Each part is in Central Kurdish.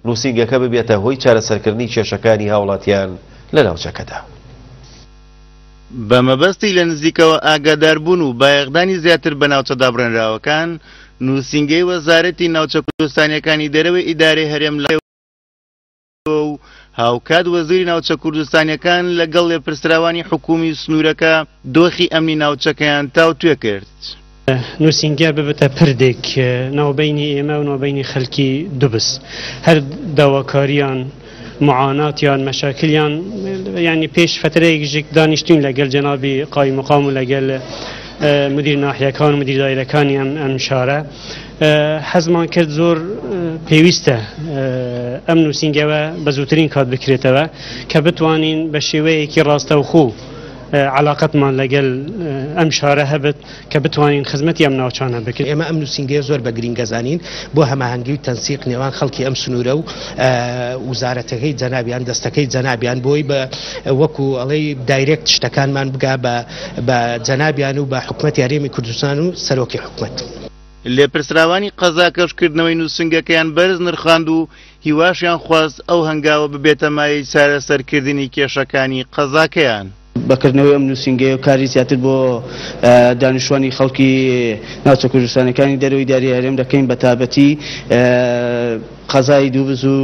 نووسینگەکە ببێتە هۆی چارەسەرکردنی کێشەکانی هاوڵاتیان لە ناوچەکەدا. بە مەبەستی لە نزیکەوە ئاگاداربوون و بایەخدانی زیاتر بە ناوچە دابڕێنراوەکان، نووسینگەی وەزارەتی ناوچە کوردستانییەکانی دەرەوەی ئیدارەی هەرێم لە و هاوکات وەزیری ناوچە کوردستانییەکان لەگەڵ لێپرسراوانی حکوومی سنوورەکە دۆخی ئەمنی ناوچەکەیان تاوتوێ کرد. نووسینگە ببتە پردێک ناوبەینی ئێمە و ناوبەینی خەلکی دوبز هەر داواکاریان معاناتیان مەشاکلیان یعنی پێش فترەیەک ژێک دانیشتوین لەگەل جەنابی قایمقام و لەگەل مدیر ناحیەکان و مدیر دایرەکانی ئەم ئەم شارە حەزمان کرد زۆر پێویستە ئەم نووسینگەوە بە زووترین کات بکرێتەوە کە بتوانین بە شێوەیەکی ڕاستەوخۆ عەلاقەتمان لەگەل ئەم شارە هەبێت کە بتوانین خزمەتی ئەم ناوچانە بکەین. ئێمە ئەم نووسینگەیە زۆر بە گرینگ ئەزانین بۆ هەماهەنگی و تەنسیق نێوان خەڵکی ئەم سنوورە و وزارەتەکەی جەنابیان، دەستەکەی جەنابیان بۆی بە وەکو ئەڵێی دایرێکت شتەکانمان بگا بە بە جەنابیان و بە حکومەتی هەرێمی کوردستان و سەرۆکی حکومەت. لێپرسراوانی قەزاکەش کردنەوەی نووسنگەکەیان بەرز نرخاند و هیواشیان خواست ئەو هەنگاوە ببێتە مایەی چارەسەرکردنی کێشەکانی قەزاکەیان. بە کردنەوەی ئەم نووسینگەیە کاری زیاتر بۆ دانیشتوانی خەڵکی ناوچە کوردستانیەکانی دەرەوەی داری هەرێم دەکەین بە تابەتی قەزای دووبز و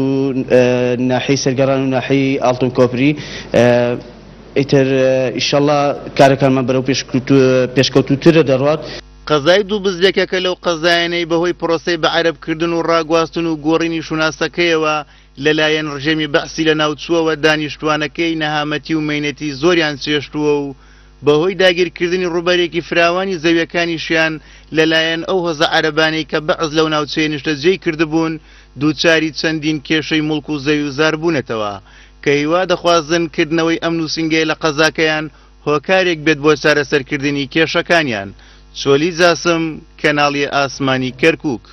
ناحیەی سەرگەڕان و ناحیەی ئاڵتون کۆپری ئیتر ئیشەڵا کارەکانمان بەرەو پێشکەوتووترە دەڕوات. قەزای دووبز یەکێکە لەو قەزایانەی بەهۆی پرۆسەی بەعەرەبکردن و ڕاگواستن و گۆڕینی شوناسەکەیەوە لەلایەن ڕژێمی بەعسی لەناوچووەوە دانیشتووانەکەی نەهامەتی و مەینەتی زۆریان چێشتووە و بەهۆی داگیرکردنی ڕووبەرێکی فراوانی زەویەکانیشیان لەلایەن ئەو هۆزە عەرەبانەی کە بەعس لەو ناوچەیە نیشتەجێی کردبوون دووچاری چەندین کێشەی موڵک و زەوی و زار بوونەتەوە کە هیوا دەخوازن کردنەوەی ئەم نووسینگەیە لە قەزاکەیان هۆکارێک بێت بۆ چارەسەرکردنی کێشەکانیان. چۆلی جاسم، کەناڵی ئاسمانی کەرکوک.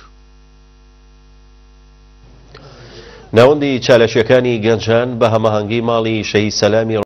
ناوەندی چالاکییەکانی گەنجان بە هەماهەنگی ماڵی شەهید سەلامی.